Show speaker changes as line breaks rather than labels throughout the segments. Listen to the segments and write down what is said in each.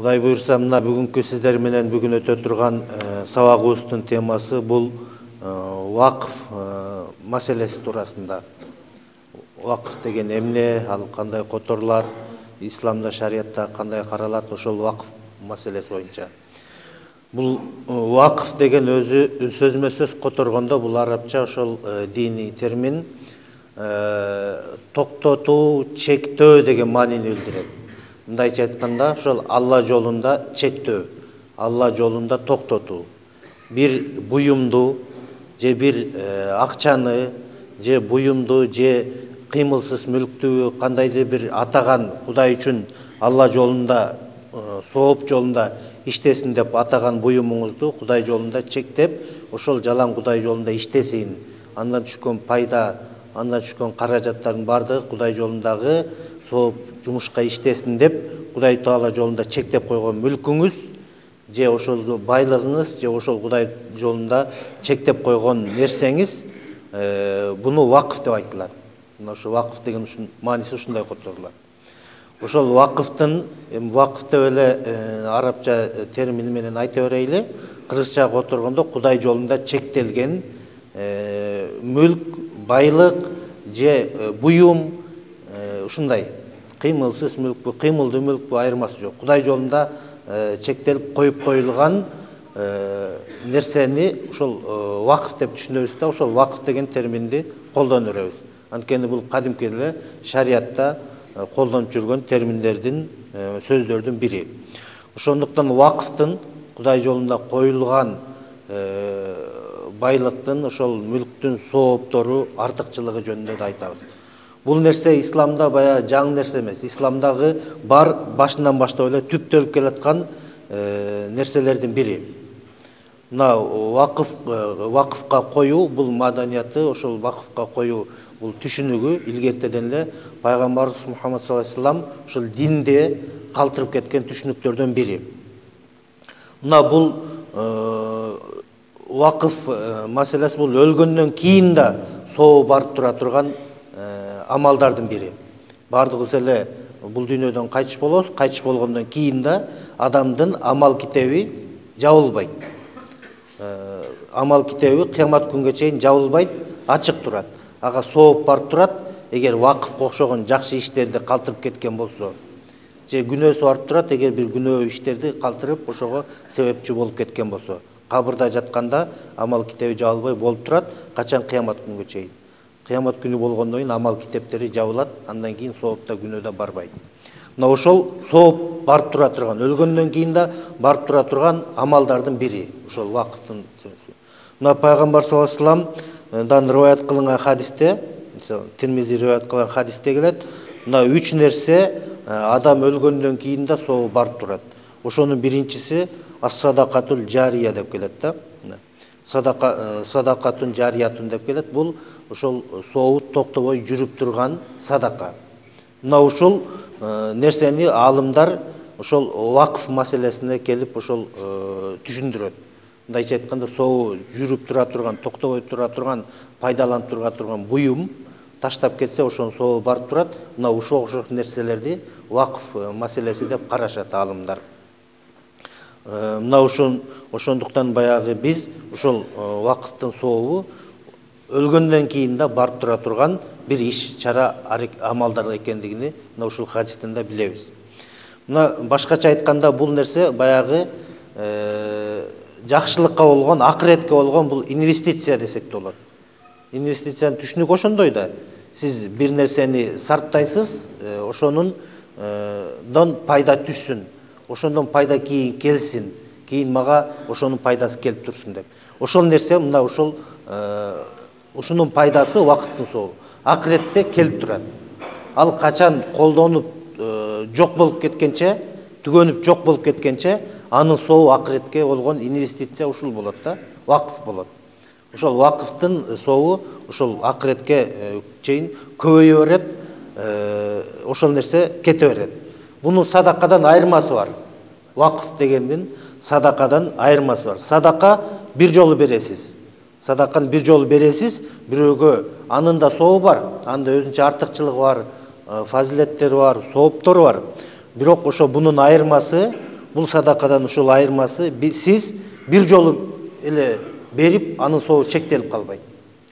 Кудай буйрса, мына бүгүнкү сиздер менен бүгүн өтө турган сабагыбыздын темасы бул вакыф маселеси туурасында. Вакыф деген эмне, ал кандай которулат, исламда, шариятта кандай каралат, ошол вакыф маселеси боюнча. Бул вакыф деген өзү сөзмө-сөз которгондо бул арабча ошол диний термин токтотуу, чектөө деген маанини билдирет. Мындайча айтканда, ошол Алла жолунда чектөө, Алла жолунда токтотуу. Бир буюмду же бир акчаны же буюмду же кыймылсыз мүлктү кандайдыр бир атаган Кудай үчүн Алла жолунда сооп жолунда иштесин деп атаган буюмуңузду Кудай жолунда чектеп, ошол жалаң Кудай жолунда иштесин. Андан түшкөн пайда, андан түшкөн каражаттардын баардыгы Кудай жолундагы сооп жумушка иштесин деп Кудай Таала жолунда чектеп койгон мүлкүңүз же ошол байлыгыңыз же ошол Кудай жолунда чектеп койгон нерсеңиз буну вакыф деп айтылат. Мына ошо вакыф деген мааниси ушундай которулат. Ошол вакыфтын вакыф деп эле арабча термини менен айта берейли. Кыргызчага которгондо Кудай жолунда чектелген мүлк, байлык же буюм ушундай кыймылсыз мүлкпү, кыймылдуу мүлкпү айырмасы жок. Кудай жолунда чектелип коюп коюлган нерсени ошол вакыф деп түшүнөбүз да, ошол вакыф деген терминди колдоно беребиз. Анткени бул кадимки эле шариятта колдонуп жүргөн терминдердин, сөздөрдүн бири. Ошондуктан вакыфтын Кудай жолунда коюлган байлыктын, ошол мүлктүн сооптору, артыкчылыгы жөнүндө да айтабыз. Бул нерсе исламда баягы жаңы нерсе эмес. Исламдагы бар башынан баштап эле түптөлүп келаткан нерселердин бири. Мына вакыфка коюу бул маданияты, ошол вакыфка коюу бул түшүнүгү илгертеден эле пайгамбарыбыз Мухаммад саллаллаху алейхи вассалам ошол динде калтырып кеткен түшүнүктөрдөн бири. Мына бул вакыф маселеси бул өлгөндөн кийин да соо барып тура турган амалдардын бири. Бардыгыбыз эле бул дүйнөдөн кайтыш болобуз, кайтыш болгондон кийин да адамдын амал китеби жабылбайт. Амал китеби кыямат күнгө чейин жабылбайт, ачык турат. Ага сооп барып турат. Эгер вакыфка окшогон жакшы иштерди калтырып кеткен болсо, же күнөөсү барып турат, эгер бир күнөө иштерди калтырып ошого себепчи болуп кеткен болсо, кабырда жатканда амал китеби жабылбай болуп турат, качан кыямат күнгө чейин. Кыямат күнү болгондон кийин амал китептери жабылат, андан кийин соопта күнөөдө барбайт. Мына ошол сооп барып тура турган, өлгөндөн кийин да барып тура турган амалдардын бири, ошол вакыттын сөзү. Мына пайгамбар саллаллаху алейхи вассаламдан риваят кылынган хадисте, Тирмизи риваят кылган хадисте келет, мына 3 нерсе адам өлгөндөн кийин да соо барып турат. Ошонун биринчиси ас-садакатул жария деп келет да. Садакатун жариятун деп келет. Бул ошол сообу токтобой жүрүп турган садака. Мына ушул нерсени алымдар ошол вакыф маселесине келип ошол түшүндүрөт. Мындайча айтканда, сообу жүрүп тура турган, токтобой тура турган, пайдаланып тура турган буюм таштап кетсе, ошонун сообу барып турат. Мына ушул окшош нерселерди вакыф маселеси деп карашат алымдар. Мына ошондуктан баягы биз ушол вакыттын сообу өлгөндөн кийин да барып тура турган бир иш, чара, амалдар экендигини мына ушул хадистен да билебиз. Мына башкача айтканда бул нерсе баягы жакшылыкка болгон, акыретке болгон бул инвестиция десек де болот. Инвестициянын түшүнүгү ошондой да. Сиз бир нерсени сарптайсыз, ошонун пайда түшсүн. Ошондон пайда кийин келсин, кийин мага ошонун пайдасы келип турсун деп. Ошол нерсе мына ушунун пайдасы вакыттын сообу. Акыретте келип турат. Ал качан колдонуп жок болуп кеткенче, түгөнүп жок болуп кеткенче, анын сообу акыретке болгон инвестиция ушул болот да, вакыф болот. Ошол вакыфтын сообу ошол акыретке чейин көбөйө берет, ошол нерсе кете берет. Бунун садакадан айырмасы бар. Вакыф дегендин садакадан айырмасы бар. Садака бир жолу бересиз. Садаканы бир жолу бересиз, бирөөгө анын да сообу бар, анда өзүнчө артыкчылыгы бар, фазилеттери бар, сооптору бар. Бирок ошо бунун айырмасы бул садакадан ушул айырмасы сиз бир жолу эле берип анын сообу чектелип калбайт.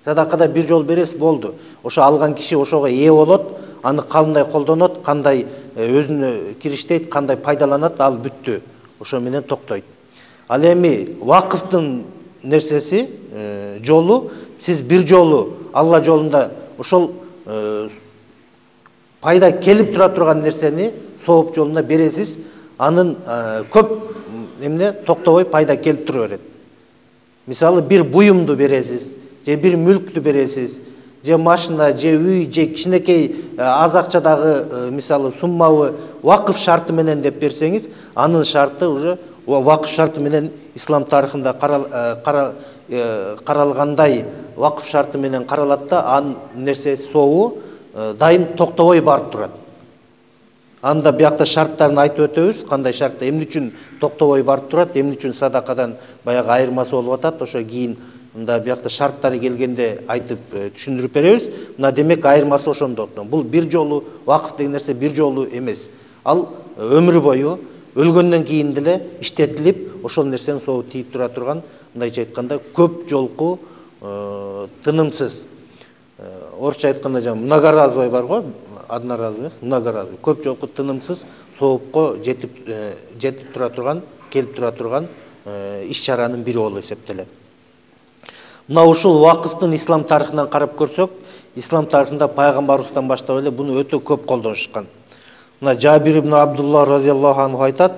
Садакада бир жол бересиз, болду. Ошо алган киши ошого ээ болот, аны кандай колдонот, кандай өзүнө кириштейт, кандай пайдаланат, ал бүттү. Ошо менен токтойт. Ал эми вакыфтын нерсеси, жолу, сиз бир жолу Алла жолунда ошол пайда келип тура турган нерсени сооп жолуна бересиз, анын көп эмне токтобой пайда келип тура берет. Мисалы, бир буюмду бересиз, же бир мүлктү бересиз, же машина, же үй, же кичинекей аз акчадагы мисалы суммабы вакыф шарты менен деп берсеңиз, анын шарты уже вакыф шарты менен ислам тарыхында каралгандай вакыф шарты менен каралат да, анын нерсеси сообу дайым токтобой барып турат. Анда биякта шарттарын айтып өтөбүз, кандай шартта, эмне үчүн токтобой барып турат, эмне үчүн садакадан баягы айырмасы болуп атат, ошо кийин мында биякта шарттары келгенде айтып түшүндүрүп беребиз. Мына демек айырмасы ошондо. Бул бир жолу вакыф деген нерсе бир жолу эмес. Ал өмүр бою өлгөндөн кийин деле иштетилип, ошол нерсенин сообу тийип тура турган, мындайча айтканда, көп жолку тынымсыз. Орусча айтканда жаңы многоразовый бар го, одноразовый эмес, многоразовый. Көп жолку тынымсыз соопко жетип тура турган, келип тура турган иш-чаранын бири болуп эсептелет. Мына ушул вакыфтын ислам тарыхынан карап көрсөк, ислам тарыхында пайгамбарыбыздан баштап эле буну өтө көп колдонушкан. Мына Жабир ибн Абдулла разияллаху анху айтат,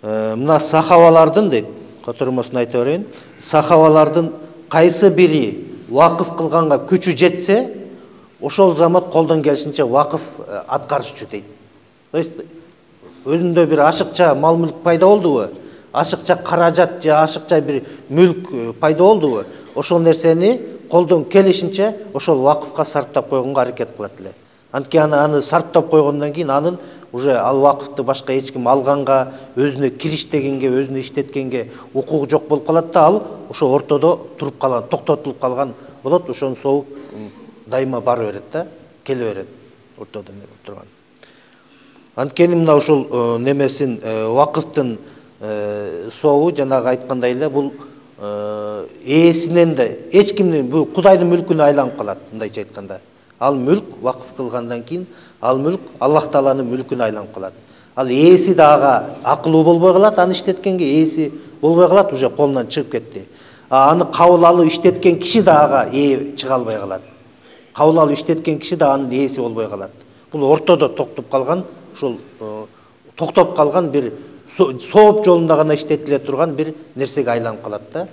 мына сахабалардын дейт, котормосун айта берейин, сахабалардын кайсы бири вакыф кылганга күчү жетсе, ошол замат колдон келишинче вакыф аткарышчу дейт. То есть өзүндө бир ашыкча мал-мүлк пайда болдубу? Ашыкча каражат же ашыкча бир мүлк пайда болдубу? Ошол нерсени колдон келишинче ошол вакыфка сарптап койгонго аракет кылат эле. Анткени аны сарптап койгондон кийин анын уже ал вакыфты башка эч ким алганга, өзүнө кириштегенге, өзүнө иштеткенге укугу жок болуп калат да, ал ошо ортодо туруп калган, токтотулуп калган болот. Ошонун сообу дайыма бара берет да, келе берет ортодо турган. Анткени мына ушул немесин вакыфтын сообу жанагы айткандай эле бул ээсинен да эч кимдин, бул Кудайдын мүлкүнө айланып калат, мындайча айтканда. Ал мүлк вакыф кылгандан кийин ал мүлк Аллах Тааланын мүлкүнө айланып калат. Ал ээси да ага акылуу болбой калат, аны иштеткенге ээси болбой калат, уже колунан чыгып кетти. Аны кабыл алып иштеткен киши да ага ээ чыга албай калат. Кабыл алып иштеткен киши да анын ээси болбой калат. Бул ортодо токтоп калган, ушул токтоп калган бир сооп жолунда гана иштетиле турган бир нерсеге айланып калат да.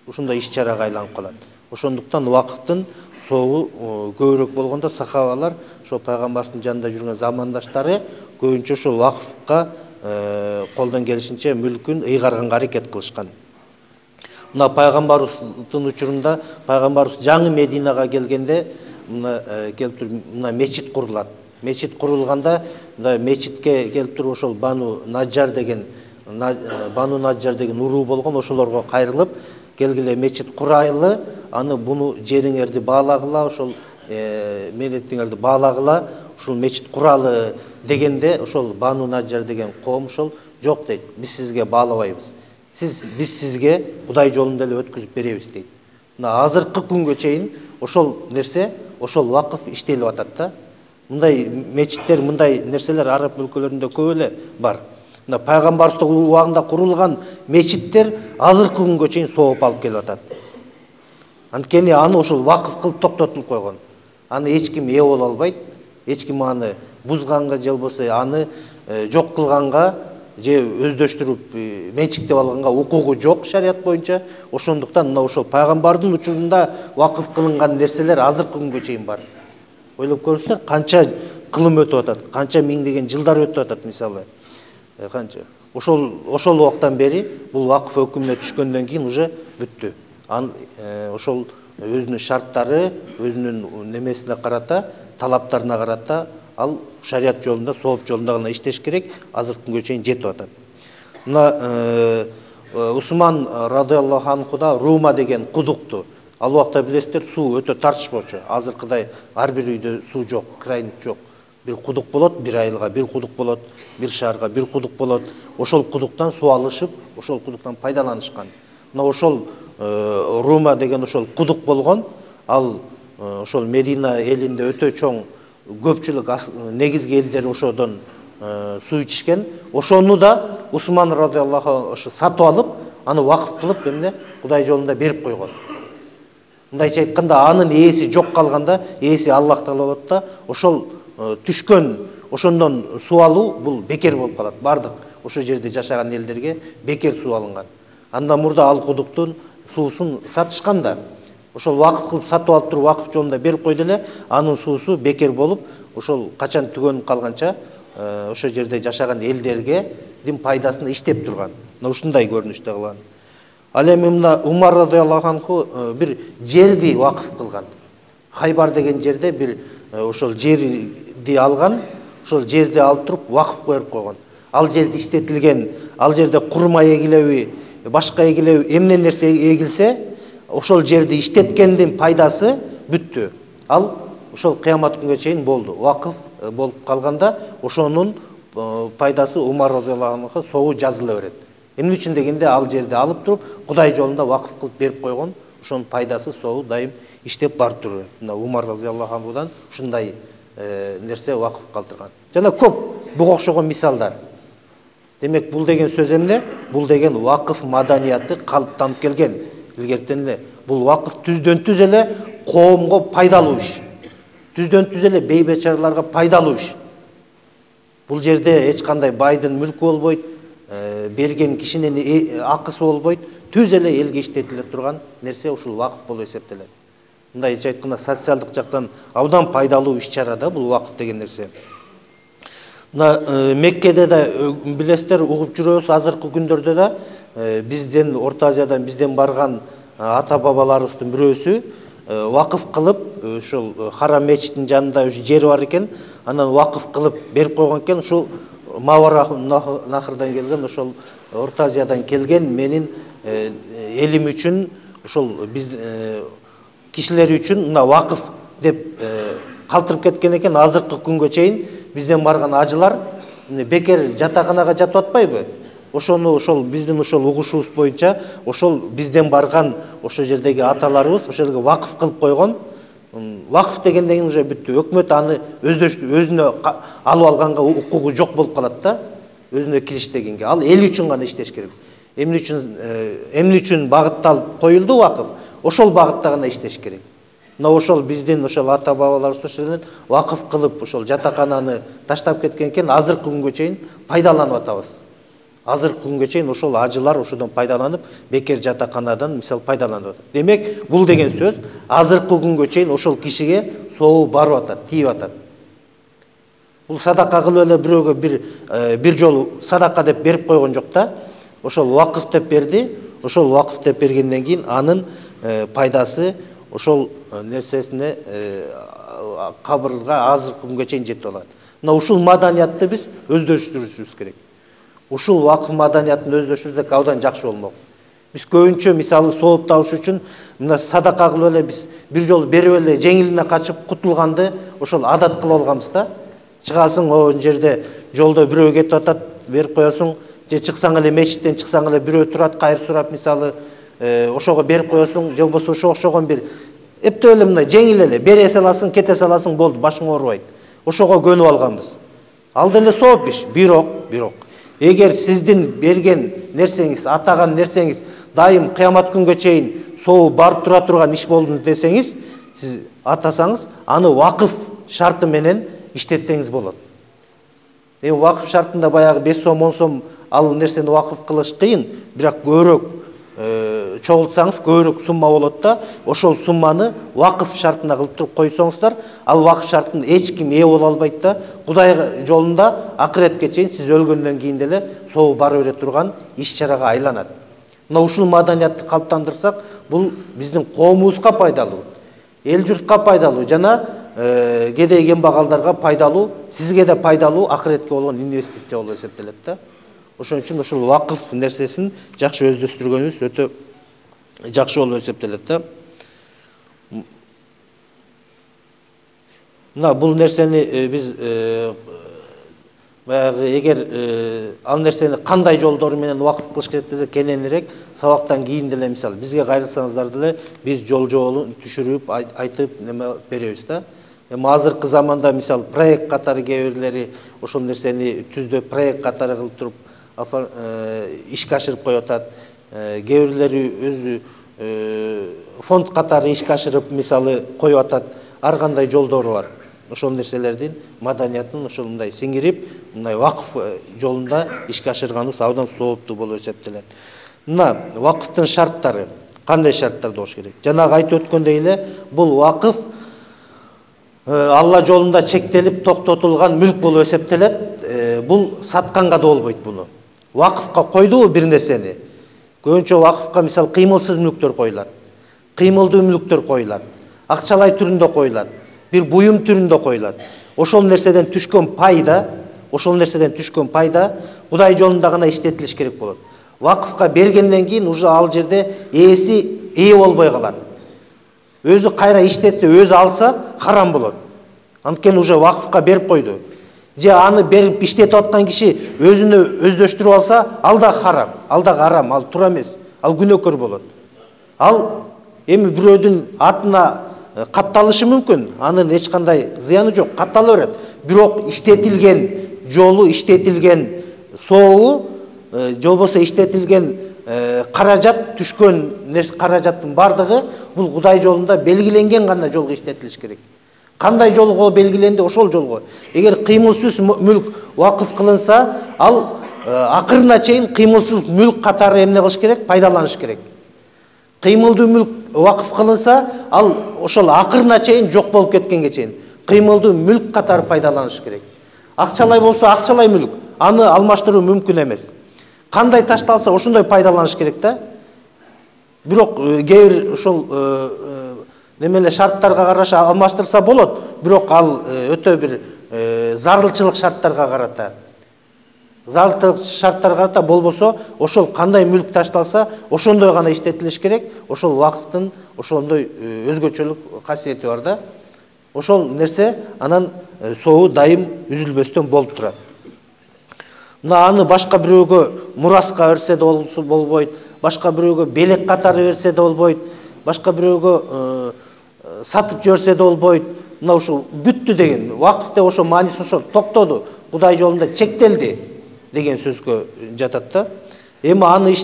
Ушундай иш-чарага айланып калат. Ошондуктан вакыттын сообу көбүрөөк болгондо сахабалар, ошо пайгамбардын жанында жүргөн замандаштары көбүнчө ошол вакыфка колдон келишинче мүлкүн ыйгарганга аракет кылышкан. Мына пайгамбарыбыздын учурунда, пайгамбарыбыз жаңы Мединага келгенде, мына мечит курулат. Мечит курулганда, мына мечитке келип туруп ошол Бану Наджар деген уруу болгон, ошолорго кайрылып, келгиле мечит курайлы, аны буну жериңерди баалагыла, ошол милетиңерди баалагыла, ушул мечит куралы дегенде, ошол Бану Наджар деген коом ошол жок дейт, биз сизге баалабайбыз. Биз сизге Кудай жолунда эле өткүзүп беребиз дейт. Мына азыркы күнгө чейин ошол нерсе, ошол вакыф иштелип атат да. Мындай мечиттер, мындай нерселер араб өлкөлөрүндө көп эле бар. Мына пайгамбардын убагында курулган мечиттер азыркы күнгө чейин сооп алып келип атат. Анткени аны ошол вакыф кылып токтотулуп койгон. Аны эч ким ээ боло албайт, эч ким аны бузганга же болбосо аны жок кылганга же өздөштүрүп менчиктеп алганга укугу жок шарият боюнча. Ошондуктан мына ошол пайгамбардын учурунда вакыф кылынган нерселер азыркы күнгө чейин бар. Ойлоп көрүңүздөр, канча кылым өтүп атат, канча миңдеген жылдар өтүп атат мисалы. Канча. Ошол убактан бери бул вакыф өкүмүнө түшкөндөн кийин уже бүттү. Ошол өзүнүн шарттары, өзүнүн немесине карата, талаптарына карата ал шарият жолунда, сооп жолунда гана иштеш керек, азыркы күнгө чейин жетип атат. Мына Усман радиаллаху анхуда Рума деген кудукту. Ал убакта билесиздер, суу өтө тартышпочу. Азыркыдай ар бир үйдө суу жок, кран жок. бир кудук болот, бир айылга бир кудук болот, бир шаарга бир кудук болот. Ошол кудуктан суу алышып, ошол кудуктан пайдаланышкан. Мына ошол Рума деген ошол кудук болгон. Ал ошол Медина элинде өтө чоң көпчүлүк негизги элдер ошодон суу ичишкен. Ошону да Усман радыйаллаху ошо сатып алып, аны вакыф кылып, эмне Кудай жолунда берип койгон. Мындайча айтканда, анын ээси жок калганда, ээси Аллах Таала болот да, ошол түшкөн, ошондон суу алуу бул бекер болуп калат. Бардык ошол жерде жашаган элдерге бекер суу алынган. Андан мурда ал кудуктун суусун сатышкан да. Ошол вакыф кылып сатып алып туруп вакыф жолунда берип койду эле, анын суусу бекер болуп, ошол качан түгөнүп калганча ошол жерде жашаган элдерге пайдасын иштеп турган. Мына ушундай көрүнүштө кылган. Ал эми мына Умар радыйаллаху анху бир жерди вакыф кылган. Хайбар деген жерде бир ошол жерди алган, ошол жерди алып туруп вакыф коюп койгон. Ал жерде иштетилген, ал жерде курма эгилеби, башка эгилеби, эмне нерсе эгилсе, ошол жерди иштеткендин пайдасы бүттү. Ал ошол кыямат күнгө чейин болду. Вакыф болуп калганда, ошонун пайдасы Умар радыйаллаху анху соогу жазыла берет. Эмне үчүн дегенде, ал жерди алып туруп Кудай жолунда вакыф кылып берип койгон, ошонун пайдасы соогу дайым иштеп барып турат. Мына Умар радыйаллаху анхудан ушундай нерсе вакыф калтырган. Жана көп буга окшогон мисалдар. Демек, бул деген сөз эмне? Бул деген вакыф маданияты калыптанып келген. Илгертен эле бул вакыф түздөн түз эле коомго пайдалуу иш. Түздөн түз эле бейбечараларга пайдалуу иш. Бул жерде эч кандай байдын мүлкү болбойт, берген кишинин акысы болбойт, түз эле элге иштетиле турган нерсе ушул вакыф болуп эсептелет. Мындайча айтканда, социалдык жактан абдан пайдалуу иш-чара да бул вакыф деген нерсе. Мына Меккеде да билесиздер, угуп жүрөбүз, азыркы күндөрдө да бизден, Орто Азиядан бизден барган ата-бабаларыбыздын бирөөсү вакыф кылып, ошол Харам мечитинин жанында ушу жери бар экен, анан вакыф кылып берип койгон экен. Ушул Мавара Нахрдан келген, ошол Орто Азиядан келген менин элим үчүн, ошол биз кишилер үчүн мына вакыф деп калтырып кеткен экен. Азыркы күнгө чейин бизден барган ажылар бекер жатаканага жатып атпайбы? Ошону ошол биздин ошол угушубуз боюнча ошол бизден барган ошол жердеги аталарыбыз ошол жерге вакыф кылып койгон. Вакыф дегенден кийин уже бүттү. Өкмөт аны өзүнө алып алганга укугу жок болуп калат да. Өзүнө кириштегенге. Ал эл үчүн гана иштеш керек. Эмне үчүн багытталып коюлду вакыф? Ошол багытта гана иштеш керек. Мына ошол биздин ошол ата-бабаларыбыз ошол вакыф кылып ошол жатакананы таштап кеткен экен, азыркы күнгө чейин пайдаланып атабыз. Азыркы күнгө чейин ошол ажылар ошодон пайдаланып, бекер жатаканадан мисал пайдаланып атат. Демек, бул деген сөз азыркы күнгө чейин ошол кишиге соогу барып атат, тийип атат. Бул садака кылып эле бирөөгө бир жолу садака деп берип койгон жок да. Ошол вакыф деп берди. Ошол вакыф деп бергенден кийин анын пайдасы ошол нерсесине кабырга азыркы күнгө чейин жетип алат. Мына ушул маданиятты биз өздөштүрүшүбүз керек. Ушул вакыф маданиятын өздөштүрсөк абдан жакшы болмок. Биз көбүнчө мисалы сооп табыш үчүн мына садака кылып эле биз бир жолу берип эле жеңилине качып кутулганды ошол адат кылып алганбыз да. Чыгасың, о жерде жолдо бирөө кетип атат, берип коесуң, же чыксаң эле мечиттен чыксаң эле бирөө турат, кайыр сурап мисалы ошого берип коесуң, же болбосо ошо окшогон бир эптеп эле мындай жеңил эле бере саласың, кете саласың, болду, башың оорубайт. Ошого көнүп алганбыз. Ал деле сооп иш, бирок эгер сиздин берген нерсеңиз, атаган нерсеңиз дайым кыямат күнгө чейин соогу барып тура турган иш болду десеңиз, сиз атасаңыз, аны вакыф шарты менен иштетсеңиз болот. Эми вакыф шартында баягы 5 сом, 10 сом ал нерсени вакыф кылыш кыйын, бирок көбүрөөк чогултсаңыз көбүрөөк сумма болот да, ошол сумманы вакыф шартына кылып туруп койсоңуздар, ал вакыф шартын эч ким ээ боло албайт да, Кудай жолунда акыретке чейин сиз өлгөндөн кийин деле соогу бара бере турган иш-чарага айланат. Мына ушул маданиятты калыптандырсак, бул биздин коомубузга пайдалуу, эл журтка пайдалуу жана кедей кембагалдарга пайдалуу, сизге да пайдалуу, акыретке болгон инвестиция болуп эсептелет да. Ошон үчүн ушул вакыф нерсесин жакшы өздөштүргөнүбүз өтө жакшы болуп эсептелет да. мына бул нерсени биз баягы эгер ал нерсени кандай жолдору менен вакыф кылыш керек десе кененирээк сабактан кийин деле мисалы бизге кайрылсаңыздар деле биз жолун түшүрүп айтып неме беребиз да. Эми азыркы заманда мисалы проект катары кээ бирлери ошол нерсени түздөп проект катары кылып туруп ишке ашырып коюп атат. Кээ бирлери өзү фонд катары ишке ашырып мисалы коюп атат. Ар кандай жолдору бар. Ошол нерселердин маданиятын ошол мындай сиңирип, мындай вакыф жолунда ишке ашырганыбыз абдан сооптуу болуп эсептелет. Мына вакыфтын шарттары, кандай шарттарда болуш керек? Жанагы айтып өткөндөй эле, бул вакыф Алла жолунда чектелип токтотулган мүлк болуп эсептелет. Бул сатканга да болбойт буну. Вакыфка койдубу бир нерсени? Көбүнчө вакыфка мисалы кыймылсыз мүлктөр коюлат. Кыймылдуу мүлктөр коюлат. Акчалай түрүндө коюлат. Бир буюм түрүндө коюлат. Ошол нерседен түшкөн пайда, Кудай жолунда гана иштетилиш керек болот. Вакыфка бергенден кийин уже ал жерде ээ болбой калат. Өзү кайра иштетсе, өзү алса харам болот. Анткени уже вакыфка берип койду. Же аны берип иштетип аткан киши өзүнө өздөштүрүп алса, ал да харам, ал туура эмес, ал күнөөкөр болот. Ал эми бирөөдүн атына катталышы мүмкүн, анын эч кандай зыяны жок, каттала берет. Бирок иштетилген жолу, иштетилген сообу, же болбосо иштетилген каражат, түшкөн каражаттын бардыгы бул Кудай жолунда белгиленген гана жолго иштетилиш керек. Кандай жолго белгиленди, ошол жолго. Эгер кыймылсыз мүлк вакыф кылынса, ал акырына чейин кыймылсыз мүлк катары эмне кылыш керек? Пайдаланыш керек. Кыймылдуу мүлк вакыф кылынса, ал ошол акырына чейин жок болуп кеткенге чейин кыймылдуу мүлк катары пайдаланыш керек. Акчалай болсо акчалай мүлк, аны алмаштыруу мүмкүн эмес. Кандай ташталса ошондой пайдаланыш керек да. Бирок кээ бир ошол немеле шарттарга караша алмаштырса болот, бирок ал өтө бир зарылчылык шарттарга карата. Зарылчылык шарттарга карата болбосо, ошол кандай мүлк ташталса, ошондой гана иштетилиш керек. Ошол вакыттын ошондой өзгөчөлүк касиети бар да. Ошол нерсе анан сообу дайым үзүлбөстөн болуп турат. Мына аны башка бирөөгө мураска берсе да болбойт, башка бирөөгө белек катары берсе да болбойт, башка бирөөгө сатып жиберсе да болбойт. Мына ушул бүттү деген вакыфта ошо мааниси ошо токтоду, Кудай жолунда чектелди деген сөзгө жатат да. Эми аны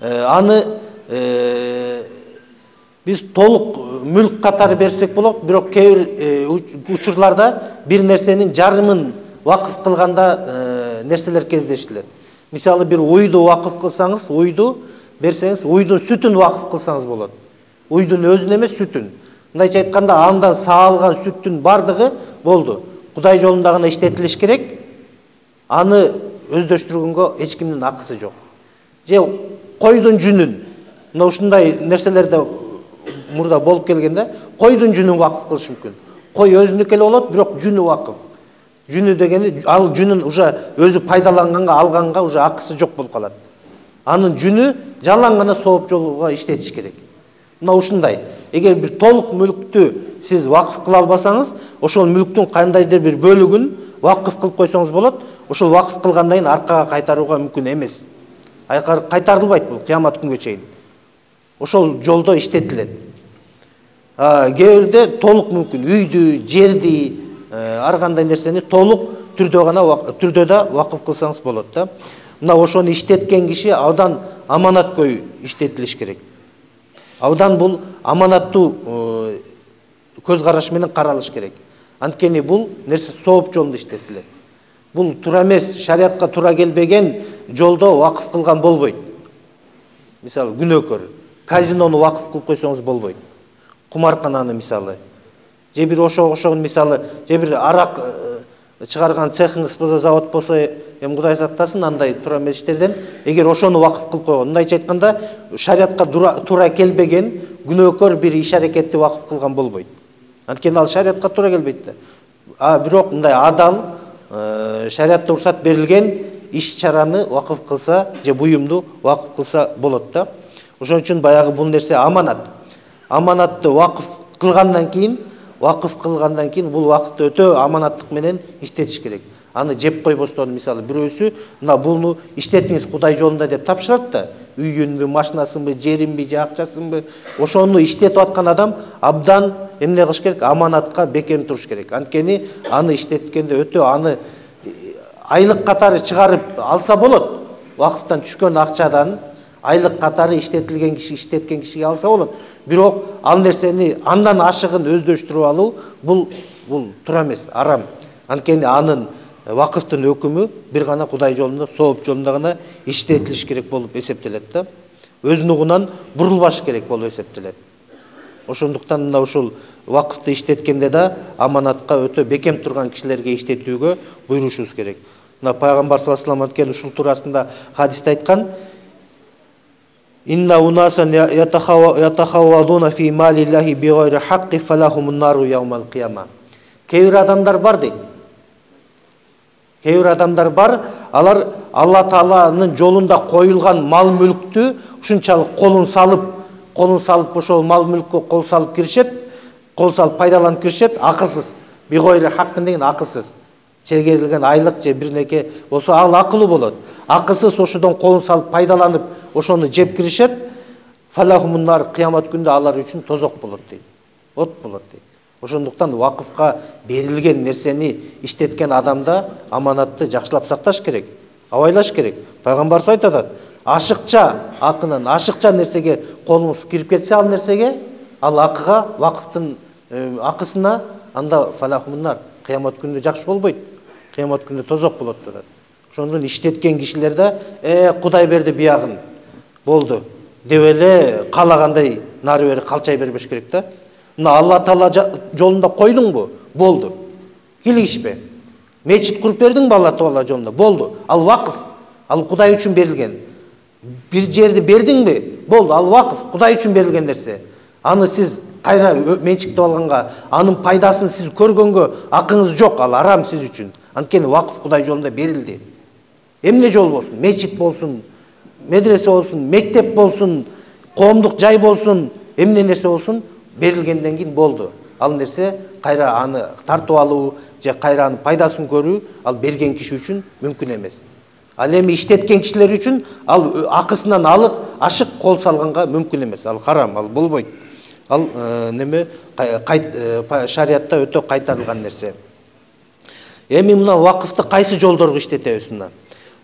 аны биз толук мүлк катары берсек болот, бирок кээ бир учурларда бир нерсенин жарымын вакыф кылганда нерселер кездештилет. Мисалы бир уйду вакыф кылсаңыз, уйду берсеңиз, уйдун сүтүн вакыф кылсаңыз болот. Уйдун өзүн эмес, сүтүн. Мындайча айтканда, андан саалган сүттүн бардыгы болду. Кудай жолунда гана иштетилиш керек. Аны өздөштүргөнгө эч кимдин акысы жок. Же койдун жүнүн, мына ушундай нерселерде мурда болуп келген да, койдун жүнүн вакыф кылыш мүмкүн. Кой өзүнүкү эле болот, бирок жүнү вакыф. Жүнү дегени, ал жүнүн уже өзү пайдаланганга, алганга уже акысы жок болуп калат. Анын жүнү жалаң гана сооп жолго иштетиш керек. Мына ушундай. Эгер бир толук мүлктү сиз вакыф кыла албасаңыз, ошол мүлктүн кандайдыр бир бөлүгүн вакыф кылып койсоңуз болот. Ошол вакыф кылгандан кийин аркага кайтарууга мүмкүн эмес. Кайтарылбайт бул кыямат күнгө чейин. Ошол жолдо иштетилет. Кээ бирде толук мүмкүн үйдү, жерди, ар кандай нерсени толук түрдө да вакыф кылсаңыз болот да. Мына ошону иштеткен киши абдан аманаткөй иштетилиш керек. Абдан бул аманаттуу көз караш менен каралыш керек. Анткени бул нерсе сооп жолунда иштетилет. Бул туура эмес, шариатка туура келбеген жолдо вакыф кылган болбойт. Мисалы күнөөкөр, казинону вакыф кылып койсоңуз болбойт. Кумаркананы мисалы, же бир ошогун мисалы, же бир арак чыгарган цехиңиз болсо, завод болсо, эми Кудай сактасын андай туура эмес иштерден, эгер ошону вакыф кылып койгон, мындайча айтканда, шариатка туура келбеген күнөөкөр бир иш аракетти вакыф кылган болбойт. Анткени ал шариатка туура келбейт да. Бирок мындай адал, шариатта уруксат берилген иш-чараны вакыф кылса, же буюмду вакыф кылса болот да. Ошон үчүн баягы бул нерсе аманат. Аманатты вакыф кылгандан кийин вакыф кылгандан кийин бул вакытты өтө аманаттык менен иштетиш керек. Аны жеп койбостон, мисалы бирөөсү мына буну иштетиңиз Кудай жолунда деп тапшырат да, үйүнбү, машинасынбы, жеринби, же акчасынбы, ошону иштетип аткан адам абдан эмне кылыш керек? Аманатка бекем туруш керек. Анткени аны иштеткенде өтө аны айлык катары чыгарып алса болот. Вакыфтан түшкөн акчадан айлык катары иштетилген киши, иштеткен кишиге алса болот. Бирок ал нерсени андан ашыгын өздөштүрүп алуу бул туура эмес, арам. Анткени анын вакыфтын өкүмү бир гана Кудай жолунда, сооп жолунда гана иштетилиш керек болуп эсептелет да. Өз нугунан бурулбаш керек болуп эсептелет. Ошондуктан мына ушул вакыфты иштеткенде да аманатка өтө бекем турган кишилерге иштетүүгө буйрушубуз керек. Мына пайгамбар саллаллаху алейхи ва саллям ушул туурасында хадисте айткан: Инна унасан ятахаввадуна фи малиллахи бигайри хакки фалахумун нару яумал кияма. Кээ бир адамдар бар дейт. Кээ бир адамдар бар, алар Алла Тааланын жолунда коюлган мал мүлктү ушунчалык колун салып ошол мал мүлккө кол салып киришет, кол салып пайдаланып киришет, акылсыз. Бигайри хаккын деген акылсыз. Чегерилген айлык же бир неке болсо ал акылуу болот. Акылсыз ошодон колун салып пайдаланып ошону жеп киришет. Фалахумун нар, кыямат күндө алар үчүн тозок болот дейт. От болот дейт. Ошондуктан вакыфка берилген нерсени иштеткен адамда аманатты жакшылап сакташ керек, абайлаш керек. Пайгамбар айтат: ашыкча акынын, ашыкча нерсеге колуңуз кирип кетсе ал нерсеге, ал акыга, вакыфтын акысына, анда фалахумуннар, кыямат күндө жакшы болбойт. Кыямат күндө тозок болот турат. Ошондон иштеткен кишилерде Кудай берди биягын, болду деп эле каалагандай нары бери калчай бербеш керек да. Мына Алла Таала жолунда койдуңбу? Болду. Килигишпе. Мечит куруп бердиңби Алла Таала жолунда? Болду. Ал вакыф, ал Кудай үчүн берилген. Бир жерди бердиңби? Болду. Ал вакыф, Кудай үчүн берилген нерсе. Аны сиз кайра менчиктеп алганга, анын пайдасын сиз көргөнгө акыңыз жок, ал арам сиз үчүн. Анткени вакыф Кудай жолунда берилди. Эмне жол болсун? Мечит болсун, медресе болсун, мектеп болсун, коомдук жай болсун, эмне нерсе болсун, берилгенден кийин болду. Ал нерсе кайра аны тартып алуу же кайра анын пайдасын көрүү ал берген киши үчүн мүмкүн эмес. Ал эми иштеткен кишилер үчүн ал акысынан алып ашык кол салганга мүмкүн эмес. Ал харам, ал болбойт. Ал шариатта өтө кайтарылган нерсе. Эми мына вакыфты кайсы жолдорго иштетебиз мына?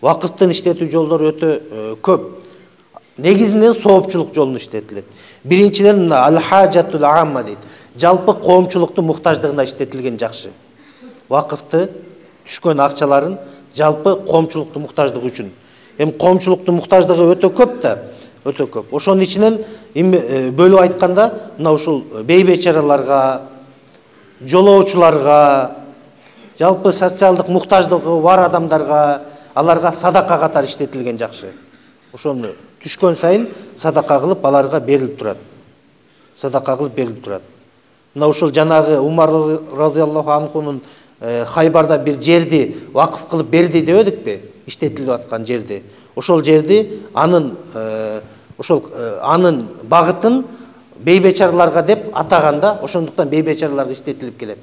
Вакыфтын иштетүү жолдору өтө көп. Негизинен соопчулук жолун иштетилет. Биринчиден мына ал-хаджатул амма дейт. Жалпы коомчулуктун муктаждыгына иштетилген жакшы. Вакыфты түшкөн акчаларын жалпы коомчулуктун муктаждыгы үчүн. Эми коомчулуктун муктаждыгы өтө көп да, өтө көп. Ошонун ичинен бөлүп айтканда, мына ушул бейбечараларга, жолоочуларга, жалпы социалдык муктаждыгы бар адамдарга, аларга садака катары иштетилген жакшы. Ошону түшкөн сайын садака кылып аларга берилип турат. Садака кылып берилип турат. Мына ушул жанагы Умар разияллаху анхунун Хайбарда бир жерди вакыф кылып берди дебедикпи? Иштетилип аткан жерди. Ошол жерди анын багытын бейбечараларга деп атаганда, ошондуктан бейбечараларга иштетилип келет.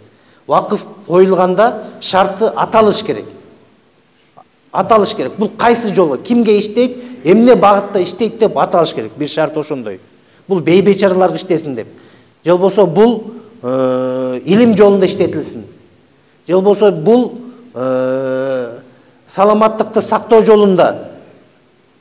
Вакыф коюлганда шарты аталыш керек. Аталыш керек. Бул кайсы жолго, кимге иштейт, эмне багытта иштейт деп аталыш керек. Бир шарт ошондой. Бул бейбечараларга иштесин деп. Же болбосо бул илим жолунда иштетилсин. Же болбосо бул саламаттыкты сактоо жолунда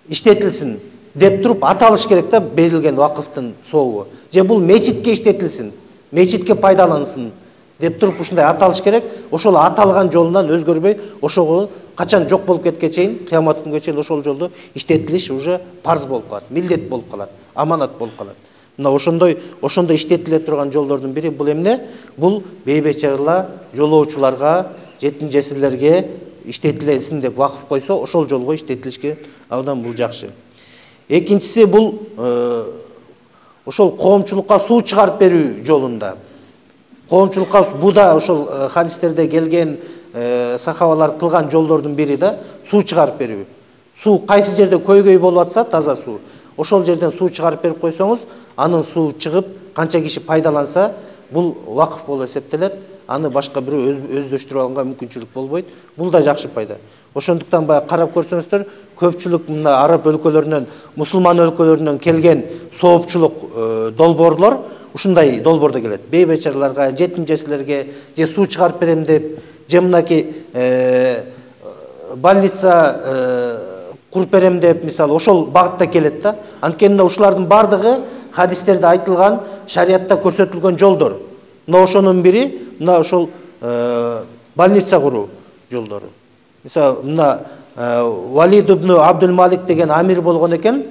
иштетилсин деп туруп аталыш керек да берилген вакыфтын сообу. Же бул мечитке иштетилсин, мечитке пайдалансын деп туруп ушундай аталыш керек. Ошол аталган жолунан өзгөрбөй, ошого качан жок болуп кетке чейин, кыямат күнгө чейин ошол жолдо иштетилиш уже парз болуп калат, милдет болуп калат, аманат болуп калат. Мына ошондой иштетиле турган жолдордун бири бул эмне? Бул бейбечаралар, жолоочуларга, жетим жесирлерге иштетилесин деп вакыф койсо, ошол жолго иштетилишке абдан бул жакшы. Экинчиси бул ошол коомчулукка суу чыгарып берүү жолунда. Коомчулукка бу да ошол хадистерде келген сахабалар кылган жолдордун бири да суу чыгарып берүү. Суу кайсы жерде көйгөй болуп атса, таза суу. Ошол жерден суу чыгарып берип койсоңуз, анын суу чыгып, канча киши пайдаланса, бул вакыф болуп эсептелет. Аны башка бирөө өздөштүрүп алганга мүмкүнчүлүк болбойт. Бул да жакшы пайда. Ошондуктан баягы карап көрсөңүздөр, көпчүлүк мына араб өлкөлөрүнөн, мусулман өлкөлөрүнөн келген соопчулук долбоорлор ушундай долбоордо келет. Бейбечараларга, жетим жесирлерге же суу чыгарып берем деп, же мынакей больница куруп берем деп, мисалы, ошол багытта келет да. Анткени ушулардын бардыгы хадистерде айтылган, шариатта көрсөтүлгөн жолдор. Мына ошонун бири мына ошол больница куруу жолдору. Мисалы, мына Валид ибн Абдул Малик деген амир болгон экен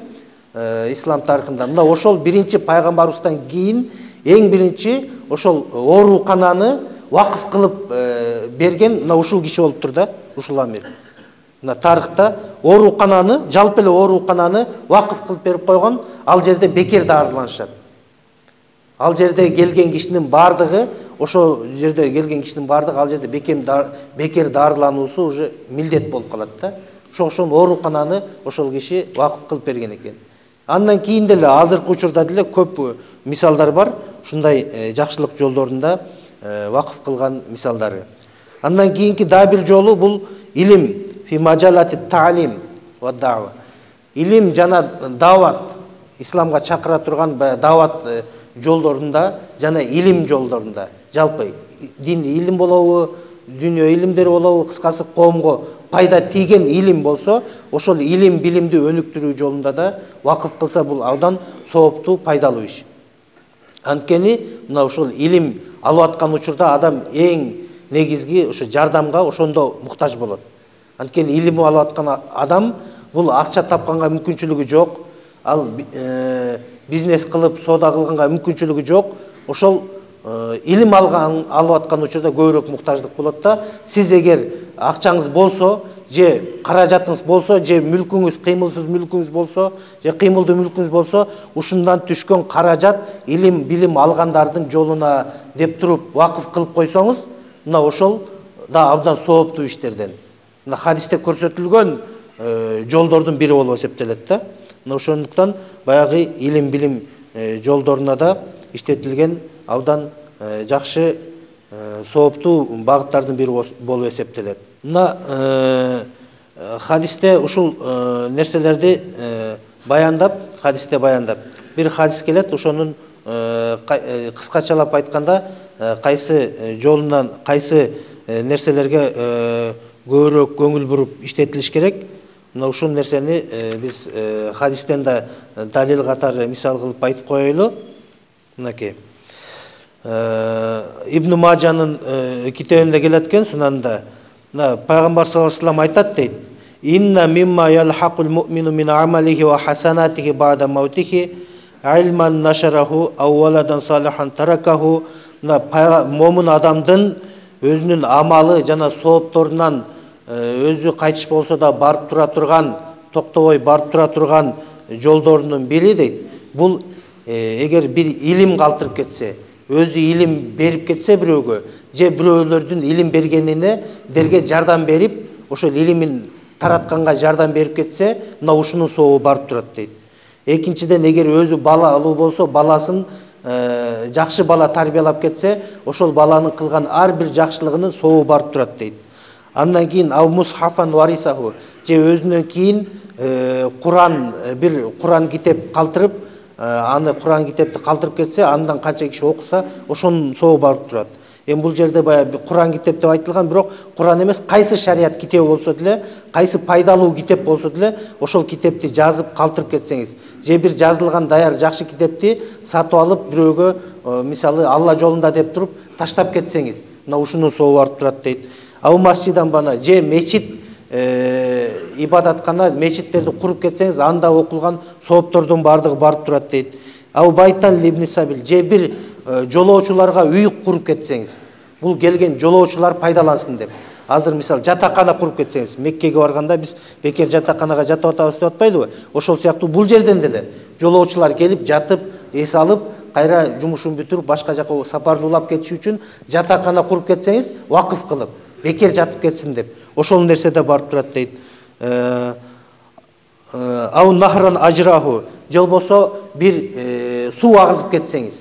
ислам тарыхында. Мына ошол биринчи пайгамбарыбыздан кийин эң биринчи ошол оорукананы вакыф кылып берген мына ушул киши болуптур да, ушул амир. Мына тарыхта оорукананы, жалпы эле оорукананы вакыф кылып берип койгон, ал жерде бекер дарыланышат. Ал жерде келген кишинин бардыгы, ошол жерде келген кишинин бардыгы ал жерде бекер дарылануусу уже милдет болуп калат да. Ошон оорукананы ошол киши вакыф кылып берген экен. Андан кийин деле азыркы учурда деле көп мисалдар бар, ушундай жакшылык жолдорунда вакыф кылган мисалдары. Андан кийинки дагы бир жолу бул илим, фи маджалати таалим ва дава. Илим жана дават, исламга чакыра турган дават жолдорунда жана илим жолдорунда, жалпы дин илим болобу, дүйнө илимдери болобу, кыскасы коомго пайда тийген илим болсо, ошол илим билимди өнүктүрүү жолунда да вакыф кылса бул абдан сооптуу, пайдалуу иш. Анткени мына ошол илим алып аткан учурда адам эң негизги ошо жардамга ошондо муктаж болот. Анткени илим алып аткан адам бул акча тапканга мүмкүнчүлүгү жок, ал бизнес кылып, соода кылганга мүмкүнчүлүгү жок. Ошол илим алып аткан учурда көбүрөөк муктаждык болот да. Сиз эгер акчаңыз болсо, же каражатыңыз болсо, же мүлкүңүз, кыймылсыз мүлкүңүз болсо, же кыймылдуу мүлкүңүз болсо, ушундан түшкөн каражат илим, билим алгандардын жолуна деп туруп вакыф кылып койсоңуз, мына ошол да абдан сооптуу иштерден. Мына хадисте көрсөтүлгөн жолдордун бири болуп эсептелет да. Мына ошондуктан баягы илим, билим жолдоруна да иштетилген абдан жакшы сооптуу багыттардын бири болуп эсептелет. Мына хадисте ушул нерселерди баяндап, бир хадис келет, ошонун кыскачалап айтканда кайсы жолунан, кайсы нерселерге көбүрөөк көңүл буруп иштетилиш керек. Мына ушул нерсени биз хадистен да далил катары мисал кылып айтып коелу. Мынакей Ибн Маджанын китебинде келет экен, сунанда пайгамбар саллаллаху алейхи вассалам айтат дейт: "Инна мимма ялхакул муъмину мин амалихи ва хасанатихи ба'да маутихи илман нашараху ав валадан салихан таракаху". Момун адамдын өзүнүн амалы жана соопторунан өзү кайтыш болсо да барып тура турган, токтобой барып тура турган жолдорунун бири дейт. Бул эгер бир илим калтырып кетсе, өзү илим берип кетсе бирөөгө, же бирөөлөрдүн илим бергенинерге жардам берип, ошол илимин таратканга жардам берип кетсе, мына ушунун сообу барып турат дейт. Экинчиден, эгер өзү балалуу болсо, баласын жакшы бала тарбиялап кетсе, ошол баланын кылган ар бир жакшылыгынын сообу барып турат дейт. Андан кийин ав мусхафан варисаху, же өзүнөн кийин бир Куран китеп калтырып, аны Куран китепти калтырып кетсе, андан канча киши окуса, ошонун сообу барып турат. Эми бул жерде баягы Куран китеп деп айтылган, бирок Куран эмес, кайсы шарият китеби болсо деле, кайсы пайдалуу китеп болсо деле, ошол китепти жазып калтырып кетсеңиз, же бир жазылган даяр жакшы китепти сатып алып бирөөгө, мисалы Алла жолунда деп туруп таштап кетсеңиз, мына ушунун сообу барып турат дейт. Ау масжидан бана, же мечит ибадаткана, мечиттерди куруп кетсеңиз, анда окулган сооптордун бардыгы барып турат дейт. Ау байтан либни сабил, же бир жолоочуларга үй куруп кетсеңиз, бул келген жолоочулар пайдалансын деп. Азыр мисал жатакана куруп кетсеңиз, Меккеге барганда биз бекер жатаканага жатып атабыз деп атпайлыбы? Ошол сыяктуу бул жерден деле жолоочулар келип жатып, эс алып, кайра жумушун бүтүрүп башка жака сапарды улап кетиши үчүн жатакана куруп кетсеңиз, вакыф кылып, бекер жатып кетсин деп, ошол нерседе барып турат дейт. Ау нахран ажраху, же болбосо бир суу агызып кетсеңиз,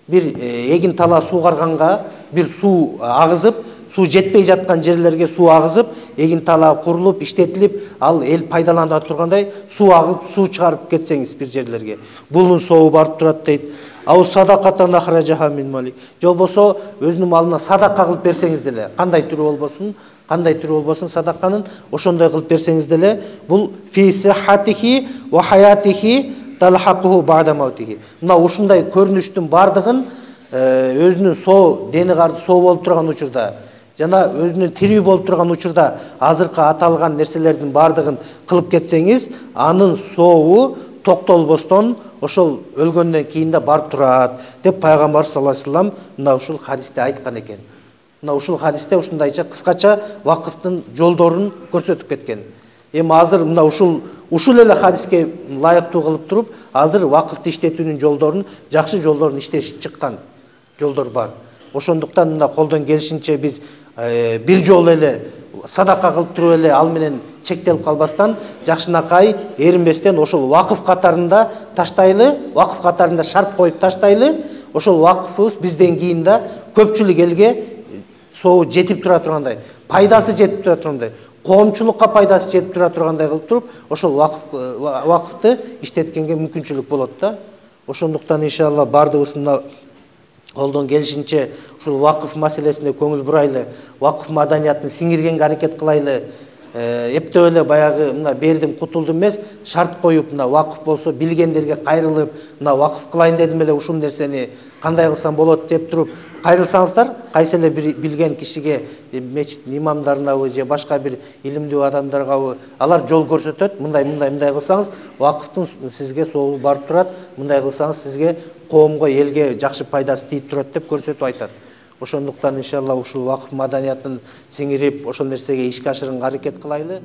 бир эгин тала суугарганга бир суу агызып, суу жетпей жаткан жерлерге суу агызып, эгин тала курулуп, иштетилип, ал эл пайдалана тургандай суу агып, суу чыгарып кетсеңиз бир жерлерге, булдун сообу барып турат дейт. Ау садакатан ахражаха мин мали. Же болбосо өзүнүн малына садака кылып берсеңиз деле, кандай түрү болбосун садаканын ошондой кылып берсеңиз деле, бул фи сихатихи ва хаятихи талхакуху ба'да маутихи. Мына ушундай көрүнүштүн бардыгын өзүнүн соо, дени карды соо болуп турган учурда жана өзүнүн тирүү болуп турган учурда азыркы аталган нерселердин бардыгын кылып кетсеңиз, анын сообу токтолбостон ошол өлгөндөн кийин да барып турат деп пайгамбар саллаллаху алейхи вассалам мына ушул хадисте айткан экен. Мына ушул хадисте ушундайча кыскача вакыфтын жолдорун көрсөтүп кеткен. Эми азыр мына ушул эле хадиске ылайыктуу кылып туруп, азыр вакыфты иштетүүнүн жолдорун, жакшы жолдорун иштешип чыккан жолдор бар. Ошондуктан мына колдон келишинче биз бир жолу эле садака кылып туруп эле ал менен чектелип калбастан, жакшынакай эринбестен ошол вакыф катарында таштайлы, вакыф катарында шарт коюп таштайлы, ошол вакыфыбыз бизден кийин да көпчүлүк элге сообу жетип тура тургандай, пайдасы жетип тура тургандай, коомчулукка пайдасы жетип тура тургандай кылып туруп, ошол вакыфты иштеткенге мүмкүнчүлүк болот да. Ошондуктан иншалла бардыгыбыз мына колдон келишинче ушул вакыф маселесине көңүл бурайлы, вакыф маданиятын сиңиргенге аракет кылайлы. Эптеп эле баягы мына бердим кутулдум эмес, шарт коюп, мына вакыф болсо билгендерге кайрылып, мына вакыф кылайын дедим эле ушул нерсени кандай кылсам болот деп туруп кайрылсаңыздар, кайсы эле бир билген кишиге, мечит имамдарынабы же башка бир илимдүү адамдаргабы алар жол көрсөтөт. Мындай кылсаңыз вакыфтын сизге сообу барып турат, мындай кылсаңыз сизге коомго, элге жакшы пайдасы тийип турат деп көрсөтүп айтат. Ошондуктан иншалла ушул вакыф маданиятын сиңирип, ошол нерсеге ишке ашырганга аракет кылайлы.